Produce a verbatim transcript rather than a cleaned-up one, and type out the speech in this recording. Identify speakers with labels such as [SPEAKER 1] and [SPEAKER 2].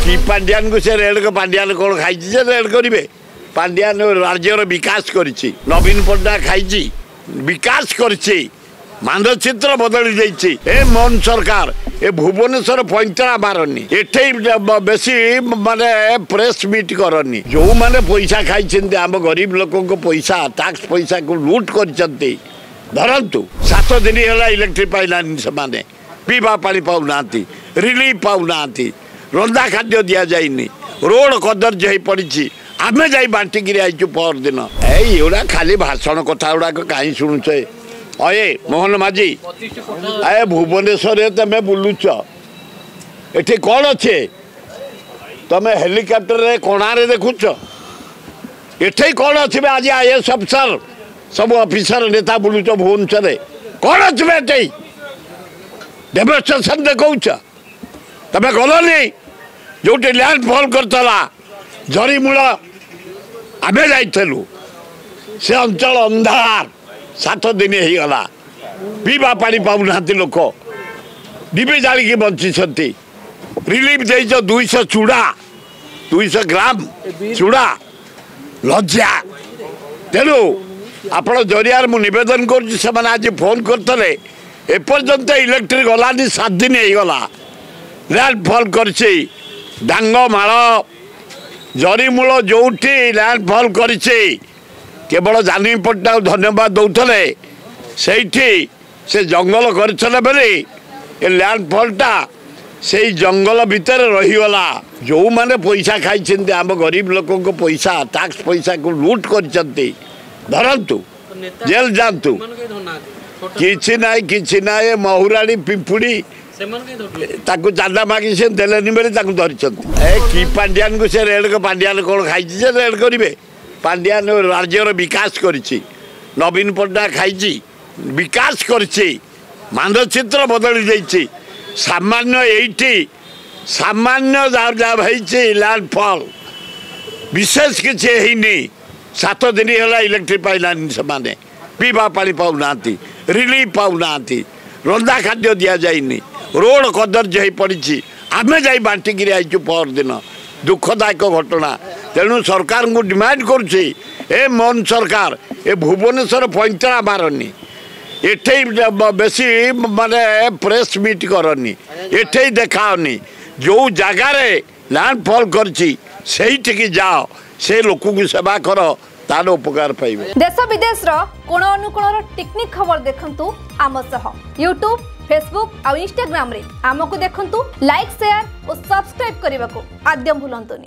[SPEAKER 1] କି ପାଣ୍ଡିଆନକୁ ସେ ରେଡ୍, ପାଣ୍ଡିଆନ କ'ଣ ଖାଇଛି ଯେ ରେଡ୍ କରିବେ? ପାଣ୍ଡିଆନ ରାଜ୍ୟର ବିକାଶ କରିଛି। ନବୀନ ପଟ୍ଟନାୟକ ଖାଇଛି, ବିକାଶ କରିଛି, ମାନଚିତ୍ର ବଦଳି ଦେଇଛି। ଏ ମୋହନ ସରକାର ଏ ଭୁବନେଶ୍ୱର ପଇଁତରା ମାରନି, ଏଠି ବେଶୀ ମାନେ ପ୍ରେସ୍ ମିଟ୍ କରନି। ଯେଉଁମାନେ ପଇସା ଖାଇଛନ୍ତି, ଆମ ଗରିବ ଲୋକଙ୍କ ପଇସା, ଟାକ୍ସ ପଇସାକୁ ଲୁଟ୍ କରିଛନ୍ତି, ଧରନ୍ତୁ। ସାତ ଦିନ ହେଲା ଇଲେକ୍ଟ୍ରିକ୍ ପାଇଲାନି ସେମାନେ, ପିଇବା ପାଣି ପାଉନାହାନ୍ତି, ରିଲିଫ୍ ପାଉନାହାନ୍ତି, ରନ୍ଧା ଖାଦ୍ୟ ଦିଆଯାଇନି, ରୋଡ଼ କଦର୍ଯ୍ୟ ହେଇ ପଡ଼ିଛି। ଆମେ ଯାଇ ବାଣ୍ଟିକିରି ଆଇଛୁ ପରଦିନ। ଏଇ ଏଗୁଡ଼ା ଖାଲି ଭାଷଣ କଥା ଗୁଡ଼ାକ କାହିଁ ଶୁଣୁଛେ? ଅଏ ମୋହନ ମାଝୀ, ଏ ଭୁବନେଶ୍ୱରରେ ତମେ ବୁଲୁଛ, ଏଠି କ'ଣ ଅଛି? ତମେ ହେଲିକପ୍ଟରରେ କଣାରେ ଦେଖୁଛ, ଏଠି କ'ଣ ଅଛି? ଆଜି I S officer, ସବୁ ଅଫିସର, ନେତା ବୁଲୁଛ ଭୁବନେଶ୍ୱରରେ, କ'ଣ ଅଛି ଏଠି? ଡେମନଷ୍ଟ୍ରେସନ୍ ଦେଖାଉଛ। ତମେ ଗଲନି ଯେଉଁଠି ଲ୍ୟାଣ୍ଡ ଫଲ୍ କରିଥିଲା ଜରିମୂଳ? ଆମେ ଯାଇଥିଲୁ। ସେ ଅଞ୍ଚଳ ଅନ୍ଧାର, ସାତ ଦିନ ହେଇଗଲା, ପିଇବା ପାଣି ପାଉନାହାନ୍ତି ଲୋକ, ଡିବି ଜାଳିକି ବଞ୍ଚିଛନ୍ତି। ରିଲିଫ୍ ଦେଇଛ ଦୁଇଶହ ଚୁଡ଼ା, ଦୁଇଶହ ଗ୍ରାମ ଚୁଡ଼ା, ଲଜ୍ଜା। ତେଣୁ ଆପଣ ଜରିଆରେ ମୁଁ ନିବେଦନ କରୁଛି, ସେମାନେ ଆଜି ଫୋନ୍ କରିଥିଲେ, ଏପର୍ଯ୍ୟନ୍ତ ଇଲେକ୍ଟ୍ରିକ୍ ଗଲାନି, ସାତ ଦିନ ହେଇଗଲା। ଲ୍ୟାଣ୍ଡଫଲ୍ କରିଛି ଡାଙ୍ଗମାଳ, ଜରିମୂଳ, ଯେଉଁଠି ଲ୍ୟାଣ୍ଡଫଲ୍ କରିଛି, କେବଳ ଜାନି ପଟ୍ଟନାୟକ ଧନ୍ୟବାଦ ଦେଉଥିଲେ। ସେଇଠି ସେ ଜଙ୍ଗଲ କରିଥିଲେ ବୋଲି ଏ ଲ୍ୟାଣ୍ଡଫଲ୍ଟା ସେଇ ଜଙ୍ଗଲ ଭିତରେ ରହିଗଲା। ଯେଉଁମାନେ ପଇସା ଖାଇଛନ୍ତି, ଆମ ଗରିବ ଲୋକଙ୍କ ପଇସା, ଟାକ୍ସ ପଇସାକୁ ଲୁଟ୍ କରିଛନ୍ତି, ଧରନ୍ତୁ, ଜେଲ୍ ଯାଆନ୍ତୁ। କିଛି ନାହିଁ, କିଛି ନାହିଁ। ମହୁରାଣୀ ପିମ୍ପୁଡ଼ି, ତାକୁ ଚାନ୍ଦା ମାଗି ସେ ଦେଲେନି ବୋଲି ତାକୁ ଧରିଛନ୍ତି। ଏ କି ପାଣ୍ଡିଆନକୁ ସେ ରେଡ୍? ପାଣ୍ଡିଆନ କ'ଣ ଖାଇଛି ଯେ ରେଡ୍ କରିବେ? ପାଣ୍ଡିଆନ ରାଜ୍ୟର ବିକାଶ କରିଛି। ନବୀନ ପଟ୍ଟନାୟକ ଖାଇଛି, ବିକାଶ କରିଛି, ମାନଚିତ୍ର ବଦଳି ଦେଇଛି। ସାମାନ୍ୟ ଏଇଠି ସାମାନ୍ୟ ଯାହା ଯାହା ହେଇଛି ଲ୍ୟାଣ୍ଡଫଲ୍, ବିଶେଷ କିଛି ହେଇନି। ସାତ ଦିନ ହେଲା ଇଲେକ୍ଟ୍ରିକ୍ ପାଇଲାନି ସେମାନେ, ପିଇବା ପାଣି ପାଉନାହାନ୍ତି, ରିଲିଫ୍ ପାଉନାହାନ୍ତି, ରନ୍ଧା ଖାଦ୍ୟ ଦିଆଯାଇନି, ରୋଡ଼ କଦର୍ଯ୍ୟ ହେଇ ପଡ଼ିଛି। ଆମେ ଯାଇ ବାଣ୍ଟିକିରି ଆଇଛୁ ପରଦିନ। ଦୁଃଖଦାୟକ ଘଟଣା। ତେଣୁ ସରକାରଙ୍କୁ ଡିମାଣ୍ଡ କରୁଛି, ଏ ମୋହନ ସରକାର ଏ ଭୁବନେଶ୍ୱର ପଇଁତରା ମାରନି, ଏଠି ବେଶୀ ମାନେ ପ୍ରେସ୍ ମିଟ୍ କରନି, ଏଠି ଦେଖାଅନି। ଯେଉଁ ଜାଗାରେ ଲ୍ୟାଣ୍ଡଫଲ୍ କରିଛି ସେଇଠିକି ଯାଅ, ସେ ଲୋକଙ୍କୁ ସେବା କର, ତାର ଉପକାର ପାଇବେ।
[SPEAKER 2] ଦେଶ ବିଦେଶର କୋଣ ଅନୁକୋଣର ଟିକ୍ନିକ୍ ଖବର ଦେଖନ୍ତୁ ଆମ ସହ ୟୁଟ୍ୟୁବ୍, ଫେସବୁକ୍ ଆଉ ଇନଷ୍ଟାଗ୍ରାମରେ ଆମକୁ ଦେଖନ୍ତୁ। ଲାଇକ୍, ସେୟାର ଓ ସବସ୍କ୍ରାଇବ୍ କରିବାକୁ ଆଦ୍ୟ ଭୁଲନ୍ତୁନି।